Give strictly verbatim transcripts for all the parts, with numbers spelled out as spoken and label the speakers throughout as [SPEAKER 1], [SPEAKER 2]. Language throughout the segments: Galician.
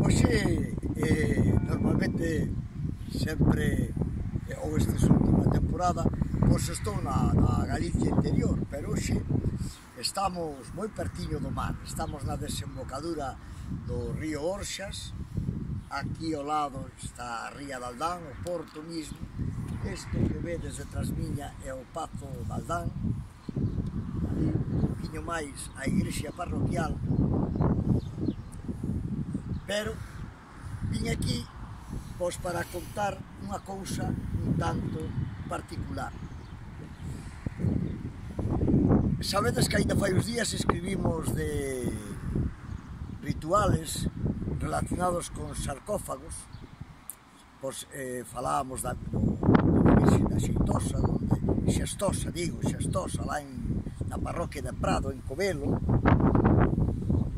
[SPEAKER 1] Oxe, eh, normalmente sempre, eh, ou esta última temporada, pois estou na, na Galicia interior, pero hoxe estamos moi pertiño do mar, estamos na desembocadura do río Orxas, aquí ao lado está a ría de Aldán, o porto mismo, isto que vedes detrás miña é o Pazo de Aldán, ali un poquinho máis a igrexa parroquial, pero vim aquí pois para contar unha cousa un tanto particular. Sabedes que ainda fai uns días escribimos de rituales relacionados con sarcófagos, pois eh, falábamos da, do, do Virxe da Xeitosa, donde, Xestosa, digo, Xestosa, lá en, na parroquia de Prado, en Covelo.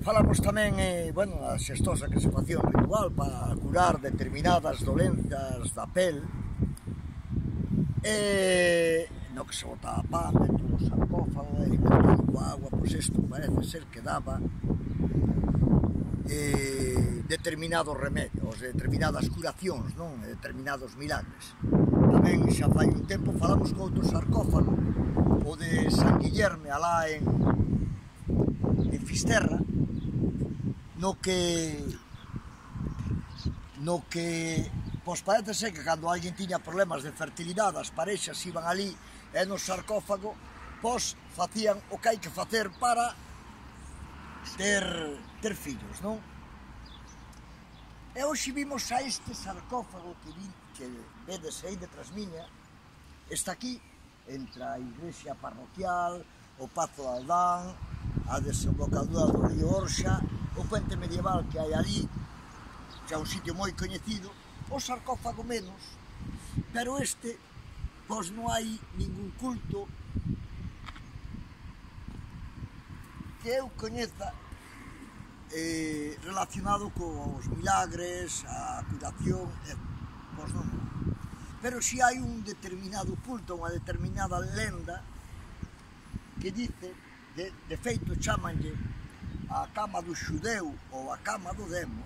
[SPEAKER 1] Falamos tamén, eh, bueno, a Xestosa que se facía un ritual para curar determinadas dolenzas da pel, e no que se botaba pan dentro do sarcófago e alimentado coa agua, pois isto parece ser que daba eh, determinados remedios, determinadas curacións, non? Determinados milagres. Tamén xa fai un tempo falamos con outro sarcófago, o de San Guillerme, alá en, en Fisterra, no que no que pois parece ser que cando alguén tiña problemas de fertilidade, as parexas iban ali e no sarcófago pois facían o que hai que facer para ter, ter fillos, non? E hoxe vimos a este sarcófago que, vi, que vedes aí detrás miña, está aquí, entre a igrexa parroquial, o Pazo de Aldán, a desembocadura do río Orxa, o puente medieval que hai ali, xa un sitio moi coñecido, o sarcófago menos, pero este, pois non hai ningún culto que eu coñeza eh, relacionado cos milagres, a curación, eh, pois non. Pero si hai un determinado culto, unha determinada lenda que dice, de, de feito chamanlle a cama do xudeu ou a cama do demo,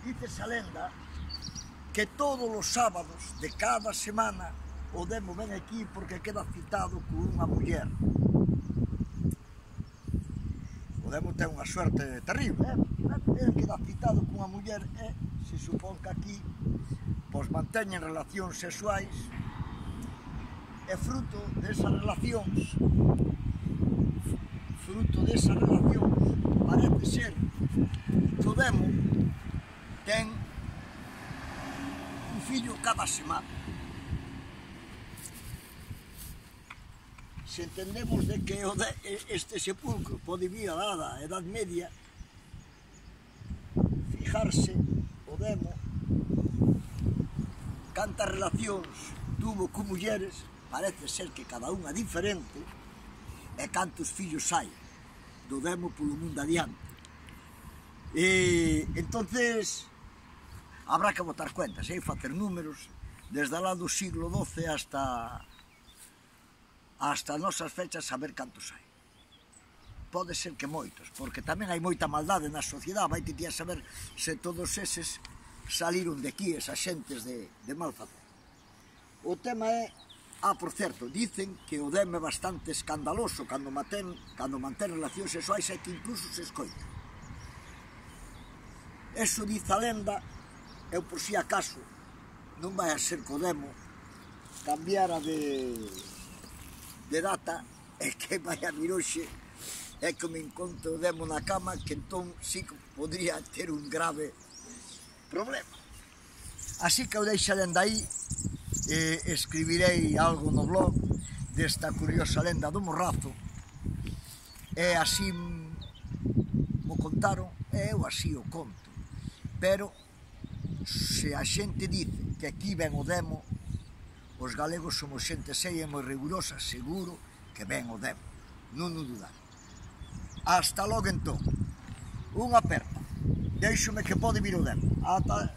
[SPEAKER 1] dice esa lenda que todos os sábados de cada semana o demo ven aquí porque queda citado con unha muller. O demo ten unha suerte terrible, eh? Ele queda citado con unha muller e se supón que aquí pois manteñen relacións sexuais e fruto desas relacións fruto desas relacións parece ser que o demo ten un fillo cada semana. Se entendemos de que este sepulcro pode vir a da Edad Media, fijarse o demo cantas relacións tuvo con mulleres, parece ser que cada unha diferente, e cantos fillos hai do demo polo mundo adiante. E entonces habrá que botar cuentas, e facer números desde lá do siglo doce hasta hasta nosas fechas, saber cantos hai. Pode ser que moitos, porque tamén hai moita maldade na sociedade, vai ti a saber se todos eses saliron de aquí, esas xentes de, de mal facer. O tema é, ah, por certo, dicen que o demo é bastante escandaloso cando mantén, cando mantén relacións sexuais e que incluso se escoita. Eso dice a lenda, eu por si acaso non vai a ser que o demo cambiara de, de data e que vai a vir hoxe e que me encontro o demo na cama, que entón sí que podría ter un grave problema. Así que eu deixo a lenda aí, e escribirei algo no blog desta curiosa lenda do Morrazo, e así mo contaron e eu así o conto. Pero se a xente dice que aquí ven o demo, os galegos somos xente seria e moi rigurosa, seguro que ven o demo, non o dudar. Hasta logo entón, unha aperta, deixome que pode vir o demo. Ata